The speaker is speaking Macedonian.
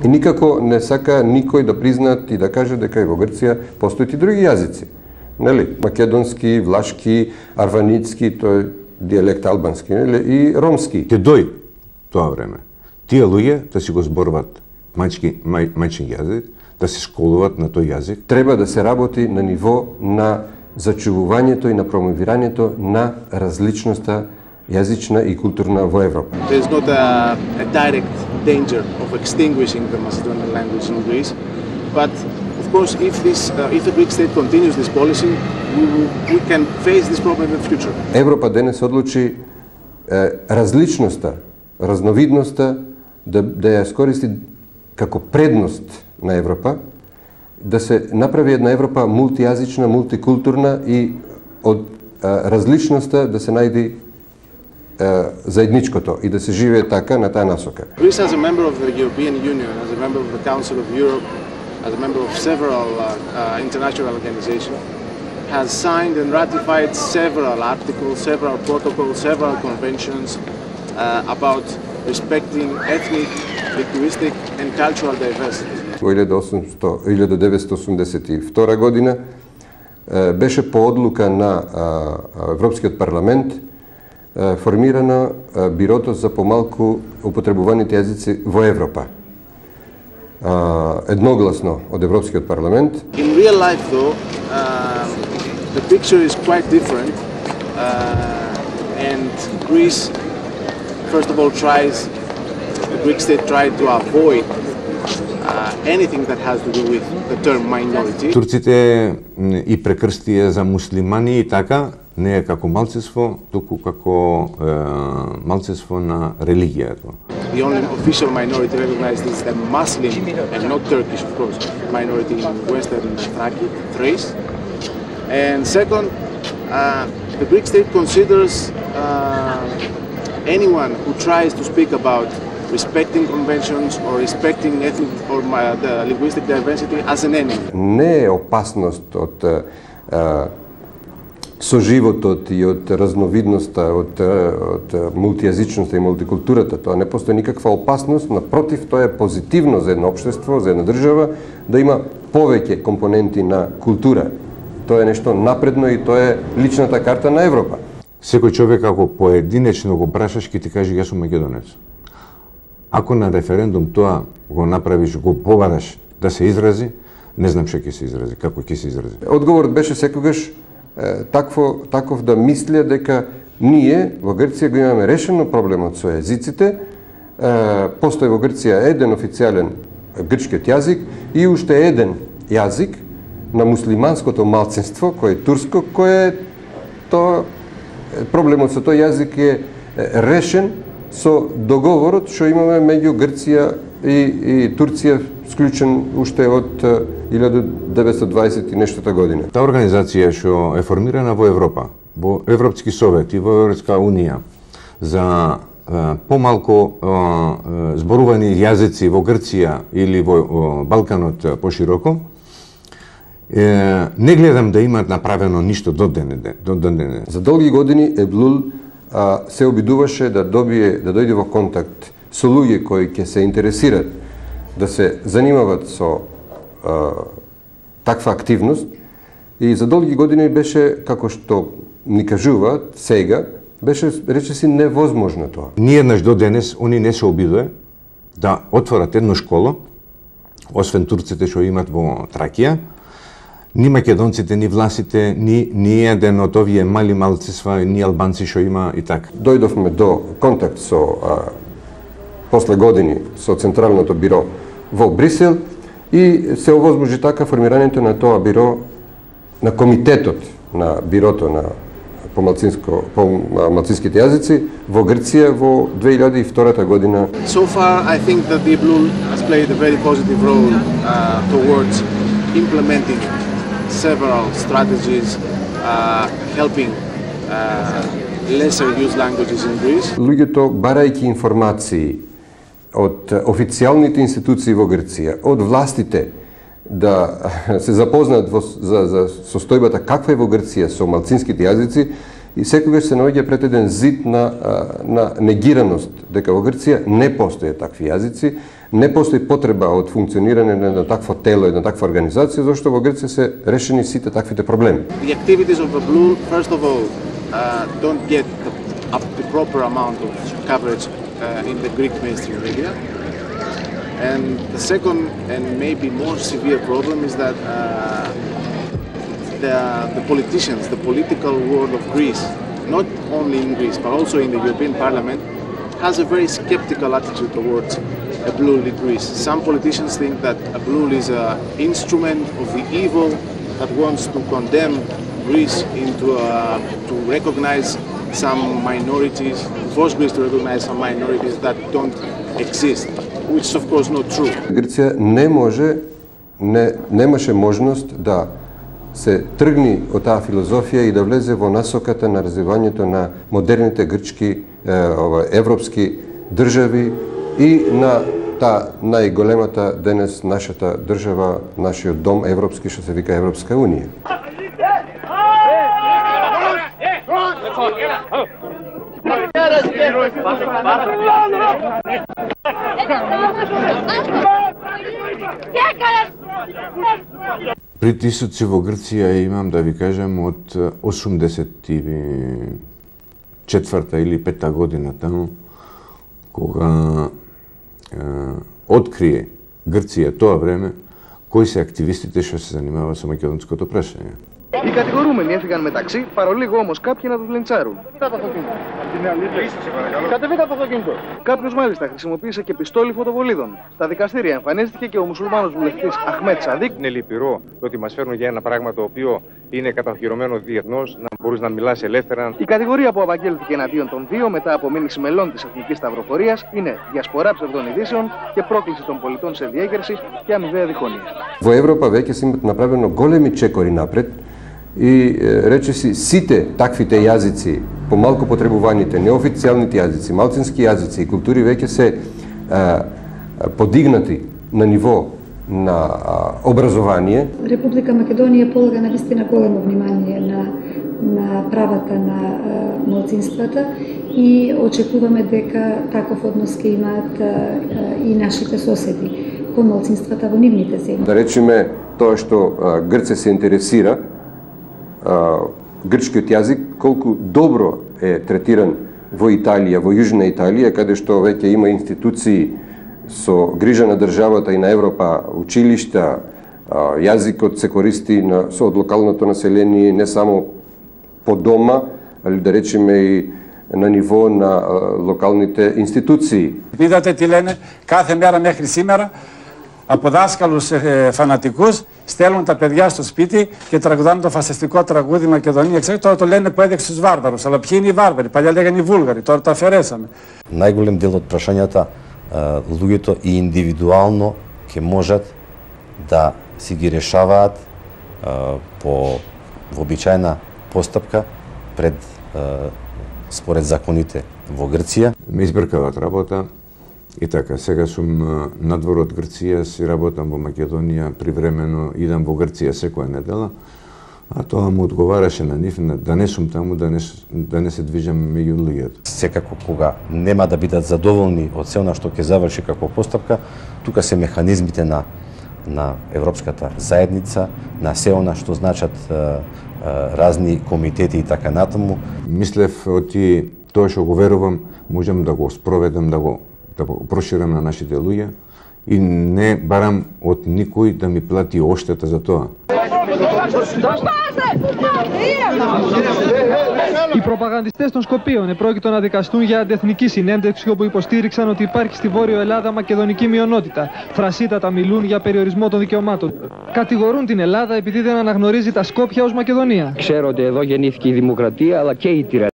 И никако не сака никој да признаат и да каже дека и во Грција постојат и други јазици. Нели? Македонски, влашки, арваницки, тој дијалект албански, нели? И ромски. Ќе дој тоа време. Тие луѓе да си го зборуваат мајчин јазик, да се школуваат на тој јазик. Треба да се работи на ниво на зачувувањето и на промовирањето на различноста јазична и културна во Европа. There's not a direct danger of extinguishing the Macedonian language in Greece, but of course if the Greek state continues this policy, we can face this problem in the future. Европа денес одлучи различноста, разновидноста да ја искористи како предност на Европа, да се направи една Европа мултијазична, мултикултурна и од различноста да се најди заедничкото и да се живее така на таа насока. Greece as a member of the European Union, as a member of the Council of Europe, as a member of several international organizations, has signed and ratified several articles, several protocols, several conventions about respecting ethnic, linguistic and cultural diversity. Во 1982 година беше по одлука на Европскиот парламент формирано Бирото за помалку употребуваните јазици во Европа. Едногласно од Европскиот парламент. In real life though, the picture is quite different, and Greece, first of all, the Greek state tried to avoid anything that has to do with the term minority. Турците и прекрстија за муслимани и така, не е како малцинство, туку како малцинство на религијата. The only official minority recognized is the Muslim, and not Turkish, of course, minority in Western Thrace. And second, the Greek state considers anyone who tries to speak about respecting conventions or respecting ethnic or the linguistic diversity as an enemy. Не е опасност од соживотот и од разновидноста, од мултијазичноста и мултикултурата. Тоа не постои никаква опасност, напротив, тоа е позитивно за едно општество, за една држава, да има повеќе компоненти на култура. Тоа е нешто напредно и тоа е личната карта на Европа. Секој човек, ако поединечно го прашаш, ќе ти каже јас сум македонец. Ако на референдум тоа го направиш, го побараш да се изрази, не знам што ќе се изрази, како ќе се изрази. Одговорот беше секогаш таков да мислеа дека ние во Грција го имаме решено проблемот со јазиците, постои во Грција еден официјален грчкиот јазик и уште еден јазик на муслиманското малцинство, кој е турско, кој е проблемот со тој јазик е решен со договорот што имаме меѓу Грција и Турција, склучен уште од 1920 и нештота година. Таа организација што е формирана во Европа, во Европски совет и во Европска унија за помалку зборувани јазици во Грција или во Балканот пошироко, не гледам да имаат направено ништо до денеде. За долги години Еблул се обидуваше да дојде во контакт со луѓе кои ќе се интересираат да се занимават со таква активност и за долги години беше, како што ни кажуваат сега, беше речиси невозможно тоа. Ни еднаш до денес они не се обидува да отворат едно школо, освен турците што имат во Тракија, ни македонците, ни власите, ни еден од овие мали малцинства, ни албанци што има и така. Дојдовме до контакт со после години со Централното биро во Брисел и се овозможи така формирањето на тоа биро, на комитетот на бирото на малцинските јазици во Грција во 2002 година. So far, I think that the Eblul has played a very positive role towards implementing several strategies, helping lesser used languages in Greece. Луѓето, барајќи информации од официјалните институции во Грција, од властите, да се запознаат за состојбата каква е во Грција со малцинските јазици, и секогаш се наоѓа пред еден зид на негираност дека во Грција не постојат такви јазици, не постои потреба од функционирање на такво тело, една таква организација, зашто во Грција се решени сите таквите проблеми. The activities of ABLUL, first of all, don't get the proper amount of coverage in the Greek mainstream media. And the second and maybe more severe problem is that the politicians, the political world of Greece, not only in Greece but also in the European Parliament, has a very skeptical attitude towards ABLUL in Greece. Some politicians think that ABLUL is an instrument of the evil that wants to condemn Greece into to recognize some minorities, force Greece to recognize some minorities that don't exist, which is of course not true. Грција немаше можност да се тргни од таа филозофија и да влезе во насоката на развивањето на модерните грчки европски држави и на таа најголемата денес нашата држава, нашиот дом европски, што се вика Европска унија. Притисоци во Грција имам да ви кажам од 84-та или 5-та година таму, кога открие Грција тоа време кои се активистите што се занимаваат со македонското прашање. Οι κατηγορούμενοι έφυγαν μεταξύ, παρολίγο όμως κάποιοι να τους λιντσάρουν. Κατεβείτε από το αυτοκίνητο. Κάποιος μάλιστα χρησιμοποίησε και πιστόλι φωτοβολίδων. Στα δικαστήρια εμφανίστηκε και ο μουσουλμάνος βουλευτής Αχμέτ Σαδίκ. Είναι λυπηρό το ότι μας φέρνουν για ένα πράγμα το οποίο είναι κατοχυρωμένο διεθνώς, να μπορείς να μιλάς ελεύθερα. Η κατηγορία που απαγγέλθηκε εναντίον των δύο μετά από μήνυση μελών της Εθνικής Σταυροφορίας είναι διασπορά ψευδών ειδήσεων και πρόκληση των πολιτών σε διέγερση και αμοιβαία διχόνοια. Во Европа веќе се имат направено големи чекори напред и речиси сите таквите јазици, помалку потребуваните, неофицијалните јазици, малцински јазици и култури веќе се подигнати на ниво на образование. Република Македонија полага навистина големо внимание на правата на малцинствата и очекуваме дека таков однос ќе имаат и нашите соседи кон малцинствата во нивните земји. Да речеме тоа што Грција се интересира, грчкиот јазик колку добро е третиран во Италија, во Јужна Италија, каде што веќе има институции со грижа на државата и на Европа, училишта, јазикот се користи од локалното население не само по дома, али да речеме и на ниво на локалните институции. Видате τι λένε κάθε μέρα μέχρι σήμερα από δάσκαλους φανατικούς στέλνουν τα παιδιά στο σπίτι και τραγουδάνε το φασιστικό τραγούδι Μακεδονία. Ξέρετε, τώρα το λένε που έδειξε τους βάρβαρους. Αλλά ποιοι είναι οι βάρβαροι? Παλιά λέγανε οι Βούλγαροι, τώρα το αφαιρέσαμε. Најголем дел од прашањата луѓето и индивидуално ќе можат да си ги решаваат по вообичаена постапка пред според законите во Грција. Ме избркават работа и така, сега сум надвор од Грција, си работам во Македонија, привремено идам во Грција секоја недела, а тоа му одговараше на нив да не сум таму, да не се движам меѓу луѓето. Секако кога нема да бидат задоволни од се она што ќе заврши како постапка, тука се механизмите на Европската заедница, на се она што значат разни комитети и така натаму. Мислев оти тоа што го верувам, можам да го спроведам, да го проширам на нашите луѓе и не барам од никој да ми плати оштета за тоа. Οι προπαγανδιστές των Σκοπίων επρόκειτο να δικαστούν για αντεθνική συνέντευξη όπου υποστήριξαν ότι υπάρχει στη Βόρειο Ελλάδα μακεδονική μειονότητα. Φρασίτατα μιλούν για περιορισμό των δικαιωμάτων. Κατηγορούν την Ελλάδα επειδή δεν αναγνωρίζει τα Σκόπια ως Μακεδονία. Ξέρω ότι εδώ γεννήθηκε η δημοκρατία αλλά και η τυραννία.